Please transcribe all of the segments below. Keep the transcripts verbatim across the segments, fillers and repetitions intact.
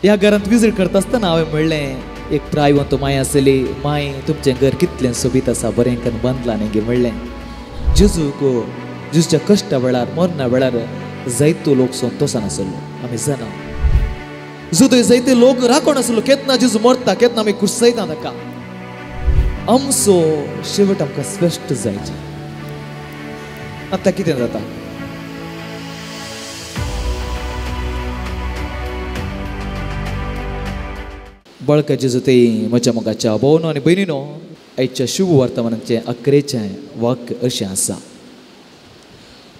ह्या घरांत विजीट करता आसतना हांवें म्हणलें, एक प्रायवंत माय आसली, माय तुमचें घर कितलें सोबीत आसा, बरें करून बांदलां न्ही गे म्हणलें. जेजूक जेजूच्या कश्टा वेळार मरणा वेळार जायतो लोक संतोशान आसलो. आमी जाणा जुदय जायते लोक राखण आसलो, केतना जेजू मरता केतना आमी कुर्सयता ताका. आमचो शेवट आमकां स्पश्ट जायचे. आतां कितें जाता? बाळका जेजू ते म्हज्या मोगाच्या भोवनो आनी भयणीनो, आयच्या शुभ वर्तमानाचें अकरेचें वाक्य अशें आसा,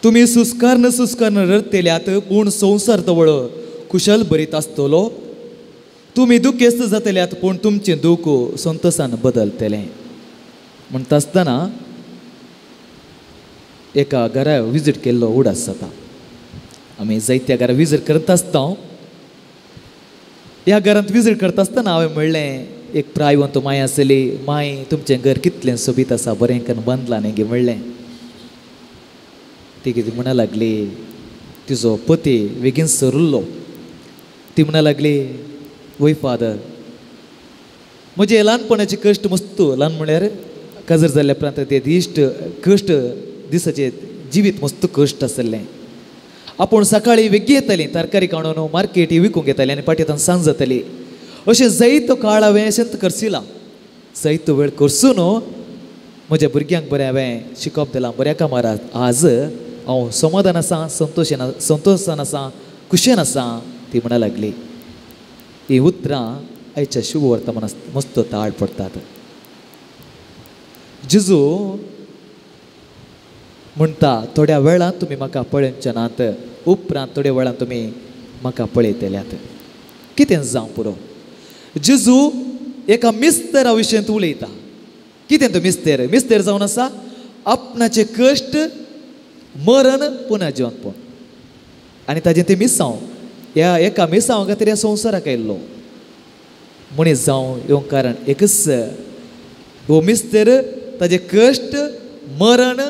तुमी सुस्कारण सुस्कारण रडतेल्यात पूण संवसार तवळ कुशल भरीत आसतलो. तुमी दुखेस्त जातल्यात पूण तुमचें दूख संतोशान बदलतलें. म्हणटा आसतना एका घरा विजीट केल्लो उडास जाता. आमी जायत्या घरा विजीट करता आसता. ह्या घरांत विजीट करता आसतना हांवें म्हणलें, एक प्रायवंत माय आसली, माय तुमचें घर कितलें सोबीत आसा, बरें करून बांदलां न्ही गे म्हणलें. ती कितें म्हणा लागली, तिजो पती बेगीन सरुल्लो. ती म्हणा लागली, वय फादर, म्हजे ल्हानपणाचे कश्ट मस्त, ल्हान म्हळ्यार काजर जाल्ल्या उपरांत ते दिश्ट कश्ट दिसाचे जिवीत मस्त कश्ट आसलें. आपूण सकाळी वेगळी येताली, तरकारी काडून मार्केटी विकूंक येताली आनी पाटयेंत सांज जाताली. अशें जायतो काळ हांवें अशेंच करसिला, जायतो वेळ करसून म्हज्या भुरग्यांक बरें हांवें शिकोवप दिलां, बऱ्या कामार आज हांव समाधान आसा, संतोशेन संतोशान आसा, खुशेन आसा. ती म्हणा लागली. ही उतरां आयच्या शुभ वर्तमान मस्त ताड पडटात. जेजू म्हणटा, थोड्या वेळान तुमी म्हाका पळोवचे नात, उपरांत थोड्या वेळान तुमी म्हाका पळयतल्यात. कितें जावं पुरो. जेजू एका मिस्तेरा विशयांत उलयता. कितें तो मिस्तेर? मिस्तेर जावन आसा आपणाचे कश्ट, मरण, पुनः जिवंतपण आनी ताजें तें मिसांव. ह्या एका मिसांव खातीर ह्या संवसाराक आयिल्लो मनीस जावं येवंक कारण एकच, हो मिस्तेर ताजें कश्ट, मरण,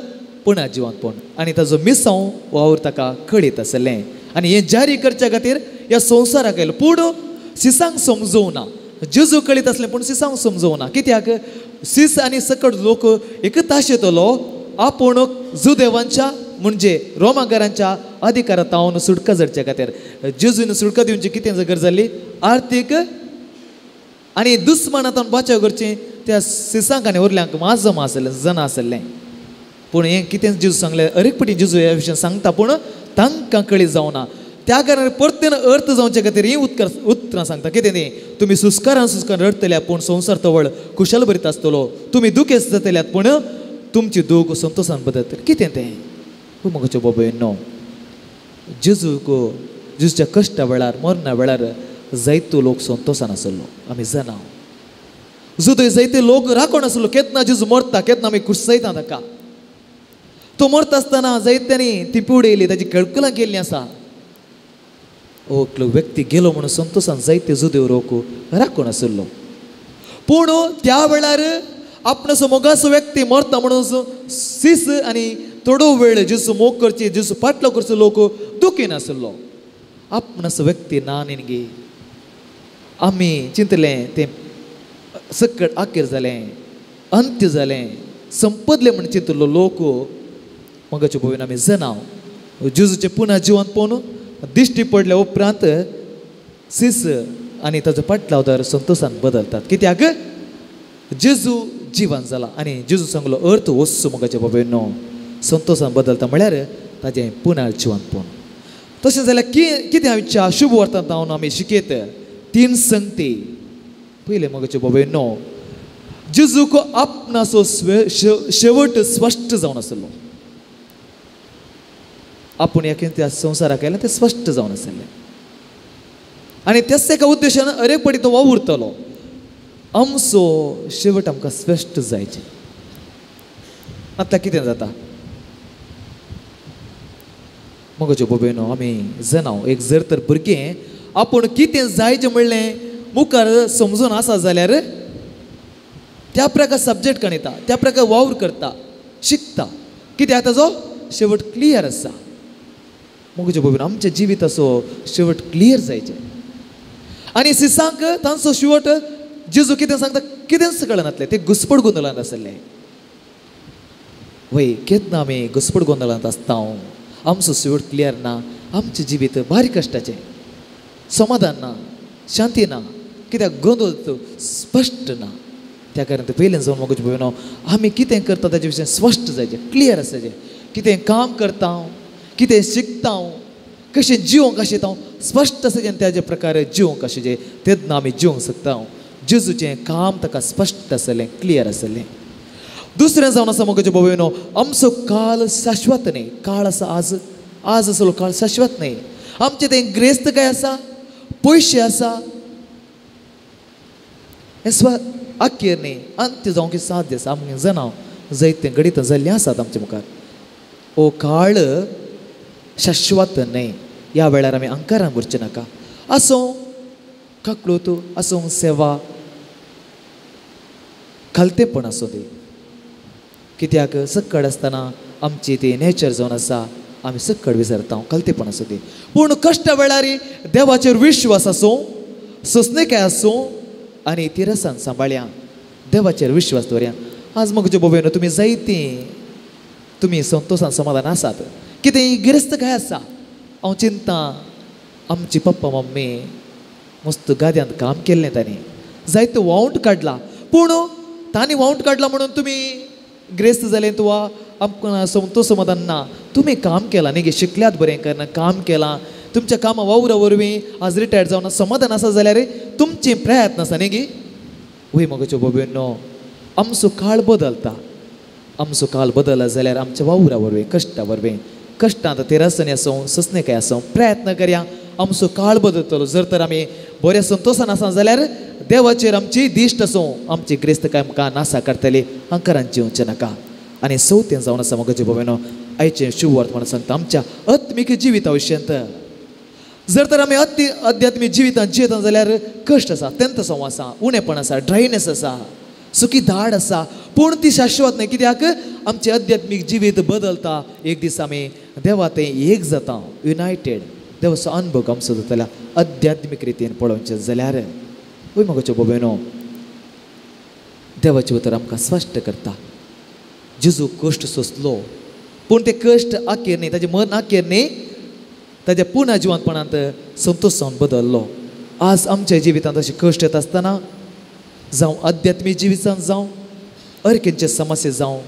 पुनः जिवंतपण आनी ताजो मिसांव वावर ताका कळीत आसलें आनी हें जारी करच्या खातीर ह्या संवसाराक आयलो. पूण सिसांक समजोवना. जेजू कळीत आसलें पूण सिसांक समजोवना. कित्याक? सीस आनी सकट लोक एकच आशेतलो आपूण जुदेवांच्या म्हणजे रोमागारांच्या अधिकारांत हांव सुटका जावच्या खातीर. जेजून सुटका दिवची कितें गरज जाली? आर्थीक आनी दुस्मानांत बाचाव करचें त्या सिसांक आनी उरल्यांक माजम आसलें, जना आसलें. पूण हें कितें जेजू सांगलें, अरेक पटी जेजू ह्या विशयान सांगता पूण तांकां कळी जावना. त्या कारणान परतेन अर्थ जावचे खातीर हीं उतकर उतरां सांगता. कितें ती? तुमी सुस्कारान सुस्कार रडटल्या पूण संवसार तवळ कुशल भरीत आसतलो. तुमी दुखेस्त जातल्यात पूण तुमची दूख संतोशान बदलतली. कितें तें? म्हज्या बाबा जेजूक जेजूच्या कश्टा वेळार मरणा वेळार जायतो लोक संतोशान आसलो. आमी जाणा जुदय जायते लोक राखण आसलो, केतना जेजू मरता केतना आमी कुर्सयता ताका. तो मरता आसतना जायत्यांनी ती उडयली, ताजी कळकलां केल्लीं आसा. एकलो व्यक्ती गेलो म्हणून संतोशान जायते जुदेव लोक राखण आसलो. पूण त्या वेळार आपणाचो मोगाचो व्यक्ती मरता म्हणून सीस आनी थोडो वेळ जेजू मोग करची, जेजू पाटलो करचो लोक दुखी नासलो. आपणाचो व्यक्ती ना न्ही, आमी चिंतलें तें सकट आखेर जालें, अंत्य जालें, संपदलें म्हण चिंतलो लोक. मगाचे पळोवन आमी जनाव जेजूचें पुनः जिवंतपण दिश्टी पडल्या उपरांत सीस आनी ताजो पाटलावदार संतोशान बदलतात. कित्याक? जेजू जिवन जाला आनी जेजू सांगलो अर्थ वस्तू मगाचे बाबा संतोशान बदलता म्हळ्यार ताजें पुनः जिवंतपण. तशें जाल्यार कि कितें आमच्या शुभ वर्तमान जावन आमी शिकयत तीन संगती. पयलें मगाचे बाबा नो जेजूक आपणाचो शेवट स्पश्ट जावन आसलो. आपूण ह्या त्या संवसाराक आयलें तें स्पश्ट जावन आसलें आनी त्याच एका उद्देशान अरेक पटी तो वावुरतलो. आमचो शेवट आमकां स्पश्ट जायचे. आतां कितें जाता? मगाच्यो भोबेनो आमी जनाव एक जर तर भुरगें आपूण कितें जायचें म्हणलें मुखार समजून आसा जाल्यार त्या प्रकार सब्जेक्ट कणयता, त्या प्रकार वावर करता, शिकता. कित्याक? ताजो शेवट क्लियर आसा. मगाच्यो भोबेनो आमचें जिवीत असो शेवट क्लियर जायचें. आनी सिसांक तांचो शेवट जेजू कितें सांगता कितेंच कळनातलें, ते घुसपड गोंदळांत आसले. वय केन्ना आमी घुसपड गोंदळांत आसता, आमचो शेवट क्लियर ना, आमचें जिवीत भारी कश्टाचें, समाधान ना, शांती ना, कित्याक गोंदळ स्पश्ट ना. त्या कारण ते पयलें जावन म्हाका पळयना आमी कितें करता ताजे विशय स्पश्ट जायचें, क्लियर आसाचें. कितें काम करता हांव, कितें शिकता हांव, कशें जिवंक आशिल्लें हांव स्पश्ट आसा आनी त्याजे प्रकारे जिवंक आशिल्लें तेन्ना आमी जिवंक शकता हांव. जेजूचें काम ताका स्पश्ट आसलें, क्लियर आसलें. दुसरें जावन आसा म्हज्या भोवयनो, आमचो काळ शाश्वत न्ही. काळ आसा आज, आज आसलो काळ शाश्वत न्ही. आमचें तें ग्रेस्त काय आसा, पयशे आसा, हें स्व अखेर न्ही, अंत्य जावंक साध्य आसा. आमगें जनाव जैतें घडीत जाल्लें आसात आमचे मुखार. हो काळ शाश्वत न्ही. ह्या वेळार आमी अंकारान उरचें नाका. आसूं काकळूत, आसूं सेवा, खालतेपण आसूं ती. कित्याक सक्कड आसतना आमची ती नेचर जावन आसा, आमी सक्कड विसरता, खालतेपण आसूं ती. पूण कश्टा वेळार देवाचेर विश्वास आसूं, सोंसणीकाय आसूं आनी तिरसान सांबाळया, देवाचेर विश्वास दवरया. आज म्हज्या भोवयनो तुमी जायतीं तुमी संतोशान समाधान आसात, कितें गिरेस्त काय आसा. हांव चिंता आमची पप्पा मम्मी मस्त गाद्यांत काम केल्लें, तांणी जायते वावंट काडला, पूण तांणी वावंट काडला म्हणून तुमी ग्रेस्त जालें वा आमकां संतोश समाधान ना. तुमी काम केलां न्ही, शिकल्यात बरें करना, काम केलां, तुमच्या कामां वावरा वरवीं आज रिटायर्ड जावन समाधान आसा जाल्यार तुमचें प्रयत्न आसा न्ही गी. वय म्हज्या भोवयनो, आमचो काळ बदलता. आमचो काळ बदलला जाल्यार आमच्या वावरा वरवीं, कश्टा वरवीं, कश्टांत तेरासनी आसूं, सोंसणीकाय आसूं, प्रयत्न करया, आमचो काळ बदलतलो. जर तर आमी बऱ्या संतोशान आसा जाल्यार देवाचेर आमची दिश्ट आसूं, आमची ग्रेस्तकाय आमकां नासा काडटली, अंकारान जिवचें नाका. आनी चवथें जावन आसा म्हज्या भोवयनो, आयचें शुभवार्त म्हणून सांगता आमच्या आत्मीक जिविता विशयांत. जर तर आमी अत्य अध्यात्मीक जिवितांत जियेता जाल्यार कश्ट आसा, अत्यंत संव आसा, उणेपण आसा, ड्रायनेस आसा, सुकी धाड आसा, पूण ती शाश्वत न्ही. कित्याक आमचें अध्यात्मीक जिवीत बदलता. एक दीस आमी देवा तें एक जाता, युनायटेड. देवाचो अनुभव आमचो जातलो अध्यात्मीक रितीन पळोवचें जाल्यार. वय म्हज्या भोवयनो, देवाचें उतर आमकां स्पश्ट करता. जेजू कश्ट सोंसलो, पूण ते कश्ट अखेर न्ही, ताजें मन अखेर न्ही, ताज्या पुना जिवंतपणांत संतोश जावन बदल्लो. आज आमच्या जिवितांत अशें कश्ट येता आसतना, जावं अध्यात्मीक जिवितांत जावं, अर्केंचे समस्या जावं,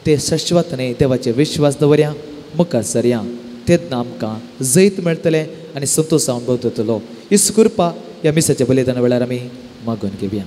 ते शाश्वत न्ही. देवाचेर विश्वास दवरया, मुखार सरया, तेन्ना आमकां जैत मेळटलें आनी संतोश जावन बदलतलो. इसू कृपा ह्या मिसाच्या बलिदाना वेळार आमी मागून घेवया.